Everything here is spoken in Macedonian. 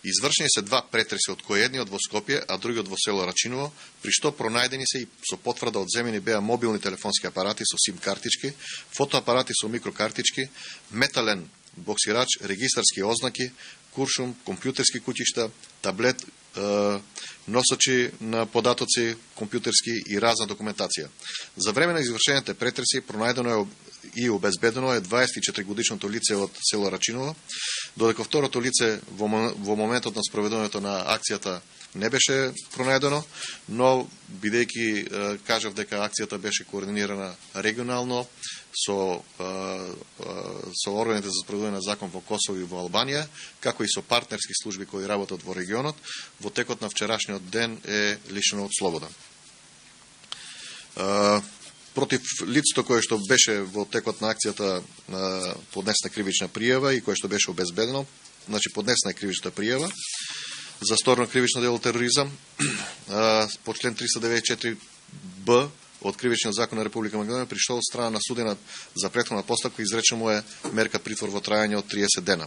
Извршени се два претреси, од кои едниот во Скопје, а другиот во село Рачиново, при што пронајдени се и со потврда одземени беа мобилни телефонски апарати со сим картички, фотоапарати со микрокартички, метален боксирач, регистарски ознаки, куршум, компјутерски куќишта, таблет, носачи на податоци компјутерски и разна документација. За време на извршените претреси пронајдено е и обезбедено е 24-годишното лице од село Рачиново, додека второто лице во моментот на спроведувањето на акцијата не беше пронајдено, но бидејќи кажав дека акцијата беше координирана регионално со органите за спроведување на закон во Косово и во Албанија, како и со партнерски служби кои работат во регионот, во текот на вчерашниот ден е лишено од слобода. Против лицето кое што беше во текот на акцијата поднесена кривична пријава и кое што беше обезбедено, значи поднесена кривична пријава за сторно кривично дело тероризам по член 394б од Кривичниот закон на Република Македонија, при што од страна на суденат за претходна постапка изречено му е мерка притвор во трајање од 30 дена.